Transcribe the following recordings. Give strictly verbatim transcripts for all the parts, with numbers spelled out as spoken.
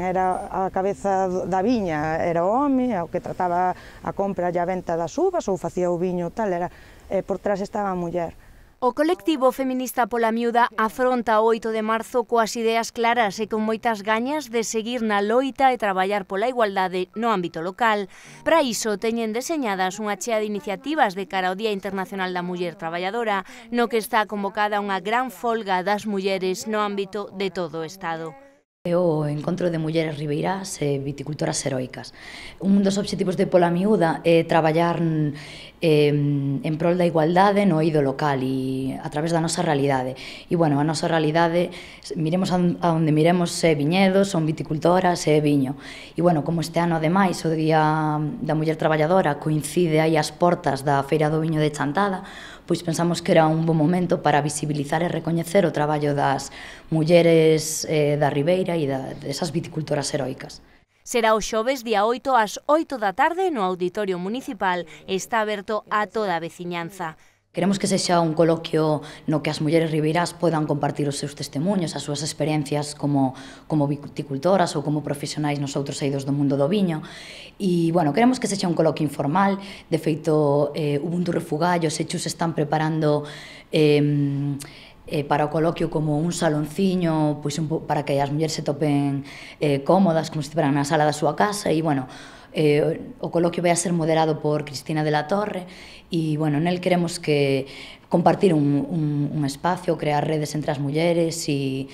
era a cabeza da viña era o home, o que trataba a compra e a venta das uvas, ou facía o viño tal, era, eh, por trás estaba a muller. O colectivo feminista Pola Miúda afronta o oito de marzo coas ideas claras e con moitas gañas de seguir na loita e traballar pola igualdade no ámbito local. Para iso teñen deseñadas unha chea de iniciativas de cara ao Día Internacional da Muller Traballadora, no que está convocada unha gran folga das mulleres no ámbito de todo o Estado. É o encontro de mulleres ribeirás e viticultoras heroicas. Un dos obxectivos de Pola Miúda é traballar eh, en prol da igualdade no eido local e a través da nosa realidade. E, bueno, a nosa realidade, miremos a onde miremos, é viñedos, son viticultoras e viño. E, bueno, como este ano, ademais, o Día da Muller Traballadora coincide aí as portas da Feira do Viño de Chantada, pois pensamos que era un bo momento para visibilizar e recoñecer o traballo das mulleres eh, da Ribeira e da, desas viticultoras heroicas. Será o xoves día oito ás oito da tarde no Auditorio Municipal e está aberto a toda a veciñanza. Queremos que sexa un coloquio no que as mulleres ribeirás podan compartir os seus testemunhos, as súas experiencias como, como viticultoras ou como profesionais nos outros eidos do mundo do viño. E, bueno, queremos que sexa un coloquio informal. De feito, eh, Ubuntu Refugallo, se chus están preparando eh, eh, para o coloquio como un salonciño, pois un, para que as mulleres se topen eh, cómodas, como se estiveran na sala da súa casa. E, bueno, Eh, o coloquio vai a ser moderado por Cristina de la Torre e, bueno, nel queremos que compartir un, un, un espacio, crear redes entre as mulleres e,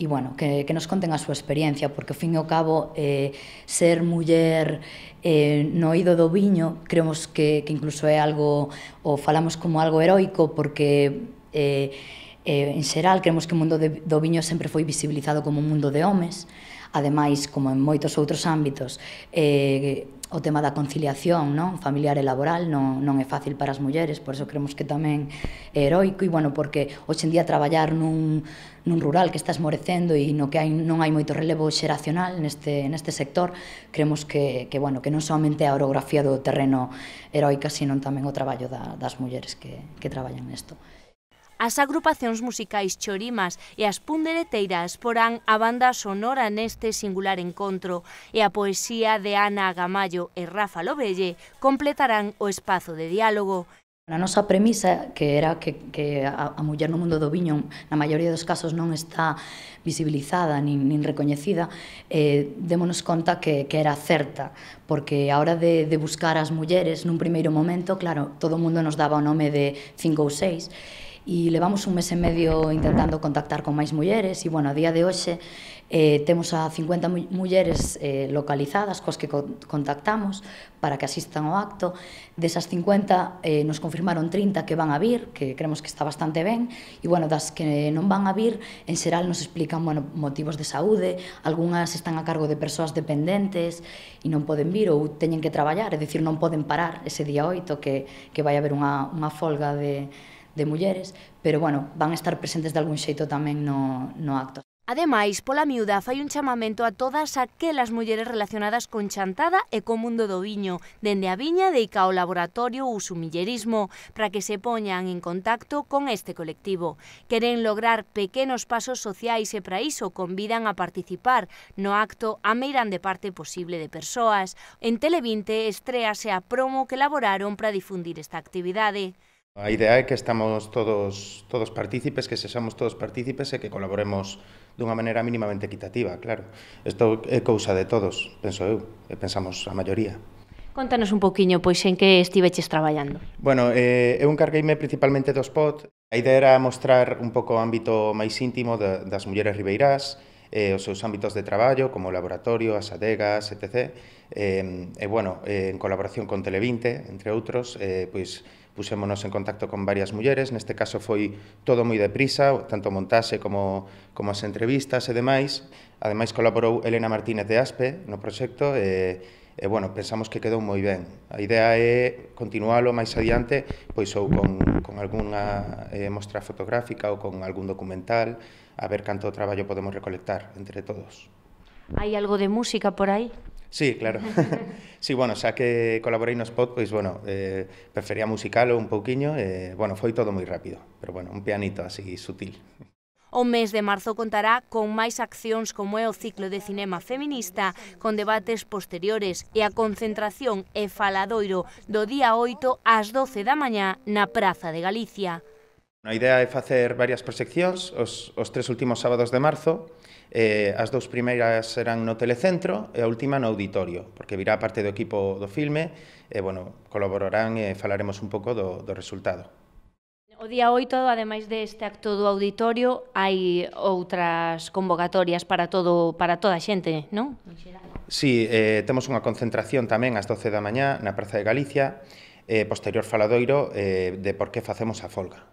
e bueno, que, que nos conten a súa experiencia, porque, ao fin e ao cabo, eh, ser muller eh, no eido do viño, creemos que, que incluso é algo, ou falamos como algo heroico, porque eh, eh, en xeral creemos que o mundo de, do viño sempre foi visibilizado como un mundo de homes. Ademais, como en moitos outros ámbitos, eh, o tema da conciliación, non, familiar e laboral non, non é fácil para as mulleres, por eso creemos que tamén é heroico, e, bueno, porque hoxe en día traballar nun, nun rural que está esmorecendo e no que hai, non hai moito relevo xeracional neste, neste sector, creemos que, que, bueno, que non somente a orografía do terreno heroica, sino tamén o traballo da, das mulleres que, que traballan nesto. As agrupacións musicais Chorimas e as Pundereteiras porán a banda sonora neste singular encontro e a poesía de Ana Gamallo e Rafa Lobelle completarán o espazo de diálogo. A nosa premisa, que era que, que a, a muller no mundo do viño na maioría dos casos non está visibilizada nin, nin recoñecida, eh, démonos conta que, que era certa, porque a hora de, de buscar as mulleres nun primeiro momento, claro, todo o mundo nos daba o nome de cinco ou seis, e levamos un mes e medio intentando contactar con máis mulleres e, bueno, a día de hoxe eh, temos a cincuenta mulleres eh, localizadas coas que co contactamos para que asistan ao acto. Desas cincuenta eh, nos confirmaron trinta que van a vir, que creemos que está bastante ben, e, bueno, das que non van a vir, en xeral nos explican, bueno, motivos de saúde, algunhas están a cargo de persoas dependentes e non poden vir ou teñen que traballar, é dicir, non poden parar ese día oito que, que vai haber unha, unha folga de de mulleres, pero, bueno, van a estar presentes de algún xeito tamén no, no acto. Ademais, Pola Miúda fai un chamamento a todas aquelas mulleres relacionadas con Chantada e co mundo do viño, dende a viña deica ao laboratorio Usumillerismo, para que se poñan en contacto con este colectivo. Queren lograr pequenos pasos sociais e para iso convidan a participar no acto a meirande parte posible de persoas. En Televinte estréase a promo que elaboraron para difundir esta actividade. A idea é que estamos todos, todos partícipes, que sexamos todos partícipes e que colaboremos dunha maneira mínimamente equitativa, claro. Isto é cousa de todos, penso eu, e pensamos a maioría. Contanos un pouquiño, pois, en que estiveches traballando. Bueno, eh, eu encargueime principalmente do spot. A idea era mostrar un pouco o ámbito máis íntimo de, das mulleres ribeirás, eh, os seus ámbitos de traballo, como o laboratorio, as adegas, etcétera. Eh, e, bueno, eh, en colaboración con Televinte, entre outros, eh, pois, puxémonos en contacto con varias mulleres, neste caso foi todo moi deprisa, tanto montaxe como, como as entrevistas e demais. Ademais colaborou Elena Martínez de Aspe no proxecto e, e bueno, pensamos que quedou moi ben. A idea é continualo máis adiante, pois ou con, con algunha eh, mostra fotográfica ou con algún documental, a ver canto traballo podemos recolectar entre todos. Hai algo de música por aí? Sí, claro. Sí, bueno, xa que colaborei no spot, pois, bueno, eh, prefería musicalo un pouquiño, e, bueno, foi todo moi rápido, pero, bueno, un pianito así sutil. O mes de marzo contará con máis accións como é o ciclo de cinema feminista, con debates posteriores e a concentración e faladoiro do día oito ás doce da mañá na Praza de Galicia. A idea é facer varias proxeccións os, os tres últimos sábados de marzo. Eh, as dous primeiras serán no Telecentro e a última no Auditorio, porque virá parte do equipo do filme e, bueno, colaborarán e falaremos un pouco do, do resultado. O día oito, ademais deste acto do Auditorio, hai outras convocatorias para todo para toda a xente, non? Si, eh, temos unha concentración tamén ás doce da mañá na Praza de Galicia, eh, posterior faladoiro eh, de por que facemos a folga.